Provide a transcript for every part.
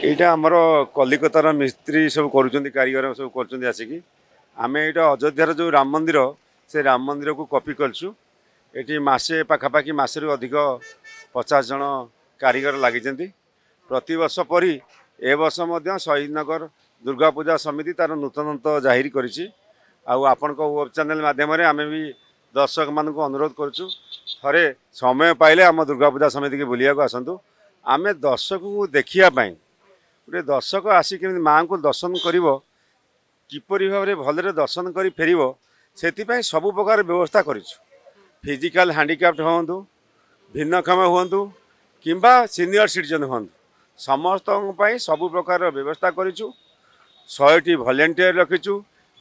ଏଇଟା ଆମର କଲିକତାର ମିସ୍ତ୍ରୀ ସବୁ କରୁଛନ୍ତି, କାରିଗର ସବୁ କରୁଛନ୍ତି ଆସିକି। ଆମେ ଏଇଟା ଅଯୋଧ୍ୟାର ଯେଉଁ ରାମ ମନ୍ଦିର, ସେ ରାମ ମନ୍ଦିରକୁ କପି କରିଛୁ। ଏଠି ମାସେ ପାଖାପାଖି, ମାସରୁ ଅଧିକ 50 ଜଣ କାରିଗର ଲାଗିଛନ୍ତି। ପ୍ରତିବର୍ଷ ପରି ଏ ବର୍ଷ ମଧ୍ୟ ଶହୀଦନଗର ଦୁର୍ଗା ପୂଜା ସମିତି ତା'ର ନୂତନତ୍ୱ ଜାହିର କରିଛି। ଆଉ ଆପଣଙ୍କ ୱେବ୍ ଚ୍ୟାନେଲ୍ ମାଧ୍ୟମରେ ଆମେ ବି ଦର୍ଶକମାନଙ୍କୁ ଅନୁରୋଧ କରୁଛୁ, ଥରେ ସମୟ ପାଇଲେ ଆମ ଦୁର୍ଗା ପୂଜା ସମିତିକି ବୁଲିବାକୁ ଆସନ୍ତୁ। ଆମେ ଦର୍ଶକଙ୍କୁ ଦେଖିବା ପାଇଁ, ଗୋଟେ ଦର୍ଶକ ଆସି କେମିତି ମାଆଙ୍କୁ ଦର୍ଶନ କରିବ, କିପରି ଭାବରେ ଭଲରେ ଦର୍ଶନ କରି ଫେରିବ, ସେଥିପାଇଁ ସବୁ ପ୍ରକାର ବ୍ୟବସ୍ଥା କରିଛୁ। ଫିଜିକାଲ୍ ହ୍ୟାଣ୍ଡିକ୍ୟାପ୍ଟ ହୁଅନ୍ତୁ, ଭିନ୍ନକ୍ଷମ ହୁଅନ୍ତୁ କିମ୍ବା ସିନିୟର ସିଟିଜେନ୍ ହୁଅନ୍ତୁ, ସମସ୍ତଙ୍କ ପାଇଁ ସବୁ ପ୍ରକାରର ବ୍ୟବସ୍ଥା କରିଛୁ। 100ଟି ଭଲେଣ୍ଟିୟର ରଖିଛୁ,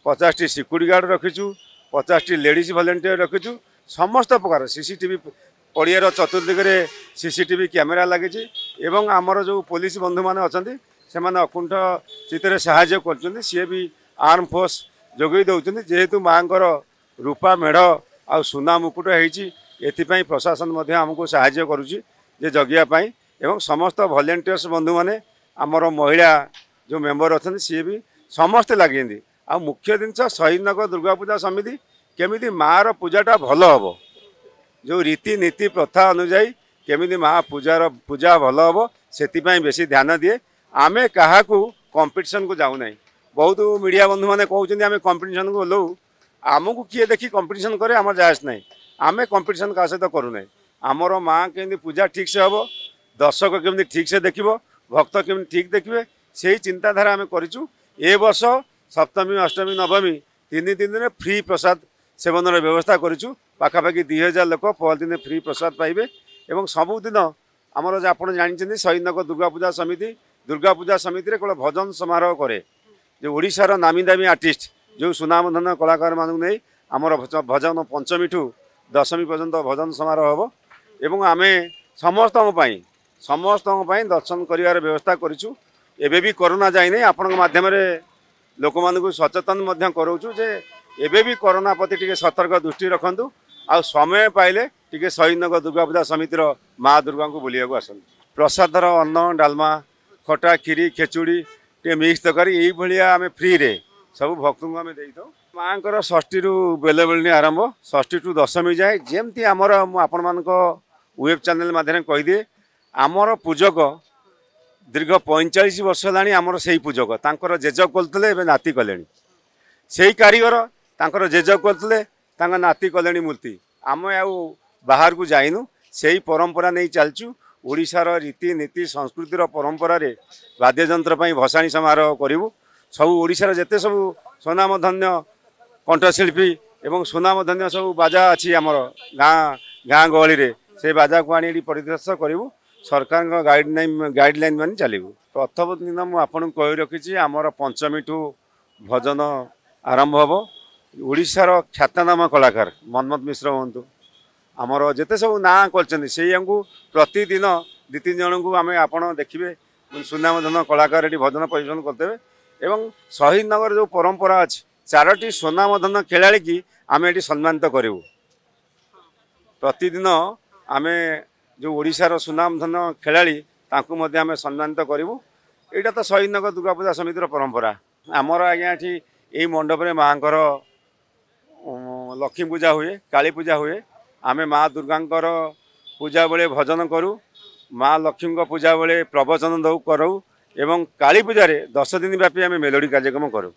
50ଟି ସିକ୍ୟୁରିଟି ଗାର୍ଡ଼ ରଖିଛୁ, 50ଟି ଲେଡ଼ିଜ୍ ଭଲେଣ୍ଟିୟର ରଖିଛୁ। ସମସ୍ତ ପ୍ରକାର ସିସିଟିଭି, ପଡ଼ିଆର ଚତୁର୍ଦିଗରେ ସିସିଟିଭି କ୍ୟାମେରା ଲାଗିଛି ଏବଂ ଆମର ଯେଉଁ ପୋଲିସ ବନ୍ଧୁମାନେ ଅଛନ୍ତି, ସେମାନେ ଅକୁଣ୍ଠ ଚିତ୍ତରେ ସାହାଯ୍ୟ କରୁଛନ୍ତି। ସିଏ ବି ଆର୍ମ ଫୋର୍ସ ଯୋଗାଇ ଦେଉଛନ୍ତି। ଯେହେତୁ ମାଆଙ୍କର ରୂପା ମେଢ଼ ଆଉ ସୁନା ମୁକୁଟ ହେଇଛି, ଏଥିପାଇଁ ପ୍ରଶାସନ ମଧ୍ୟ ଆମକୁ ସାହାଯ୍ୟ କରୁଛି ଯେ ଜଗିବା ପାଇଁ। ଏବଂ ସମସ୍ତ ଭଲେଣ୍ଟିୟର୍ସ ବନ୍ଧୁମାନେ, ଆମର ମହିଳା ଯେଉଁ ମେମ୍ବର ଅଛନ୍ତି, ସିଏ ବି ସମସ୍ତେ ଲାଗିଛନ୍ତି। ଆଉ ମୁଖ୍ୟ ଜିନିଷ, ଶହୀଦନଗର ଦୁର୍ଗା ପୂଜା ସମିତି କେମିତି ମାଆର ପୂଜାଟା ଭଲ ହେବ, ଯେଉଁ ରୀତିନୀତି ପ୍ରଥା ଅନୁଯାୟୀ କେମିତି ମା ପୂଜାର ପୂଜା ଭଲ ହେବ, ସେଥିପାଇଁ ବେଶୀ ଧ୍ୟାନ ଦିଏ। ଆମେ କାହାକୁ କମ୍ପିଟିସନକୁ ଯାଉନାହିଁ। ବହୁତ ମିଡ଼ିଆ ବନ୍ଧୁମାନେ କହୁଛନ୍ତି ଆମେ କମ୍ପିଟିସନକୁ ଓହ୍ଲାଉ। ଆମକୁ କିଏ ଦେଖି କମ୍ପିଟିସନ୍ କରେ, ଆମର ଯାଏସ ନାହିଁ। ଆମେ କମ୍ପିଟିସନ୍ କାହା ସହିତ କରୁନାହିଁ। ଆମର ମା କେମିତି ପୂଜା ଠିକ୍ସେ ହେବ, ଦର୍ଶକ କେମିତି ଠିକ୍ସେ ଦେଖିବ, ଭକ୍ତ କେମିତି ଠିକ୍ ଦେଖିବେ, ସେଇ ଚିନ୍ତାଧାରା ଆମେ କରିଛୁ। ଏ ବର୍ଷ ସପ୍ତମୀ, ଅଷ୍ଟମୀ, ନବମୀ 3 ଦିନରେ ଫ୍ରି ପ୍ରସାଦ ସେବନର ବ୍ୟବସ୍ଥା କରିଛୁ। ପାଖାପାଖି 2000 ଲୋକ ପରଦିନ ଫ୍ରି ପ୍ରସାଦ ପାଇବେ। ଏବଂ ସବୁଦିନ ଆମର, ଆପଣ ଜାଣିଛନ୍ତି, ଶହୀଦନଗର ଦୁର୍ଗା ପୂଜା ସମିତି ଦୁର୍ଗା ପୂଜା ସମିତିରେ କେବଳ ଭଜନ ସମାରୋହ କରେ, ଯେ ଓଡ଼ିଶାର ନାମୀ ଦାମୀ ଆର୍ଟିଷ୍ଟ, ଯେଉଁ ସୁନାମଧନ କଳାକାରମାନଙ୍କୁ ନେଇ ଆମର ଭଜନ ପଞ୍ଚମୀଠୁ ଦଶମୀ ପର୍ଯ୍ୟନ୍ତ ଭଜନ ସମାରୋହ ହେବ। ଏବଂ ଆମେ ସମସ୍ତଙ୍କ ପାଇଁ ଦର୍ଶନ କରିବାର ବ୍ୟବସ୍ଥା କରିଛୁ। ଏବେ ବି କରୋନା ଯାଇନାହିଁ। ଆପଣଙ୍କ ମାଧ୍ୟମରେ ଲୋକମାନଙ୍କୁ ସଚେତନ ମଧ୍ୟ କରାଉଛୁ ଯେ ଏବେ ବି କରୋନା ପ୍ରତି ଟିକେ ସତର୍କ ଦୃଷ୍ଟି ରଖନ୍ତୁ ଆଉ ସମୟ ପାଇଲେ ଟିକେ ଶହୀଦନଗର ଦୁର୍ଗା ପୂଜା ସମିତିର ମା ଦୁର୍ଗାଙ୍କୁ ବୁଲିବାକୁ ଆସନ୍ତୁ। ପ୍ରସାଦର ଅନ୍ନ, ଡାଲମା, ଖଟା, କ୍ଷୀରି, ଖେଚୁଡ଼ି, ଟିକେ ମିକ୍ସ ତରକାରୀ, ଏଇଭଳିଆ ଆମେ ଫ୍ରିରେ ସବୁ ଭକ୍ତଙ୍କୁ ଆମେ ଦେଇଥାଉ। ମାଆଙ୍କର ଷଷ୍ଠୀରୁ ବେଲବେଳିନି ଆରମ୍ଭ, ଷଷ୍ଠୀଠୁ ଦଶମୀ ଯାଏ। ଯେମିତି ଆମର, ମୁଁ ଆପଣମାନଙ୍କ ୱେବ୍ ଚ୍ୟାନେଲ୍ ମାଧ୍ୟମରେ କହିଦିଏ, ଆମର ପୂଜକ ଦୀର୍ଘ 45 ବର୍ଷ ହେଲାଣି ଆମର ସେଇ ପୂଜକ। ତାଙ୍କର ଜେଜ କରୁଥିଲେ, ଏବେ ନାତି କଲେଣି। ସେଇ କାରିଗର, ତାଙ୍କର ଜେଜ କରୁଥିଲେ, ତାଙ୍କ ନାତି କଲେଣି ମୂର୍ତ୍ତି। ଆମେ ଆଉ ବାହାରକୁ ଯାଇନୁ, ସେଇ ପରମ୍ପରା ନେଇ ଚାଲିଛୁ। ଓଡ଼ିଶାର ରୀତିନୀତି ସଂସ୍କୃତିର ପରମ୍ପରାରେ ବାଦ୍ୟଯନ୍ତ୍ର ପାଇଁ ଭସାଣି ସମାରୋହ କରିବୁ। ସବୁ ଓଡ଼ିଶାର ଯେତେ ସବୁ ସୁନାମଧନ୍ୟ କଣ୍ଠଶିଳ୍ପୀ ଏବଂ ସୁନାମଧନ୍ୟ ସବୁ ବାଜା ଅଛି ଆମର ଗାଁ ଗାଁ ଗହଳିରେ, ସେ ବାଜାକୁ ଆଣି ଏଠି ପରିଦର୍ଶନ କରିବୁ। ସରକାରଙ୍କ ଗାଇଡ଼ଲାଇନ୍ ମାନି ଚାଲିବୁ। ପ୍ରଥମ ଦିନ ମୁଁ ଆପଣଙ୍କୁ କହି ରଖିଛି, ଆମର ପଞ୍ଚମୀଠୁ ଭଜନ ଆରମ୍ଭ ହେବ। ଓଡ଼ିଶାର ଖ୍ୟାତନାମା କଳାକାର ମନ୍ମଥ ମିଶ୍ର ହୁଅନ୍ତୁ, ଆମର ଯେତେ ସବୁ ନାଁ କରିଛନ୍ତି, ସେଇଆଙ୍କୁ ପ୍ରତିଦିନ 2 3 ଜଣଙ୍କୁ ଆମେ, ଆପଣ ଦେଖିବେ, ସୁନାମଧନ କଳାକାର ଏଠି ଭଜନ ପରିବେଷଣ କରିଦେବେ। ଏବଂ ଶହୀଦନଗର ଯେଉଁ ପରମ୍ପରା ଅଛି, ଚାରୋଟି ସୁନାମଧନ ଖେଳାଳିକି ଆମେ ଏଠି ସମ୍ମାନିତ କରିବୁ। ପ୍ରତିଦିନ ଆମେ ଯେଉଁ ଓଡ଼ିଶାର ସୁନାମଧନ ଖେଳାଳି, ତାଙ୍କୁ ମଧ୍ୟ ଆମେ ସମ୍ମାନିତ କରିବୁ। ଏଇଟା ତ ଶହୀଦନଗର ଦୁର୍ଗା ପୂଜା ସମିତିର ପରମ୍ପରା। ଆମର ଆଜ୍ଞା ଏଠି ଏଇ ମଣ୍ଡପରେ ମାଆଙ୍କର ଲକ୍ଷ୍ମୀ ପୂଜା ହୁଏ, କାଳୀ ପୂଜା ହୁଏ। ଆମେ ମା ଦୁର୍ଗାଙ୍କର ପୂଜା ବେଳେ ଭଜନ କରୁ, ମା ଲକ୍ଷ୍ମୀଙ୍କ ପୂଜା ବେଳେ ପ୍ରବଚନ ଦେଉ କରାଉ ଏବଂ କାଳୀ ପୂଜାରେ 10 ଦିନ ବ୍ୟାପୀ ଆମେ ମେଲୋଡ଼ି କାର୍ଯ୍ୟକ୍ରମ କରୁ।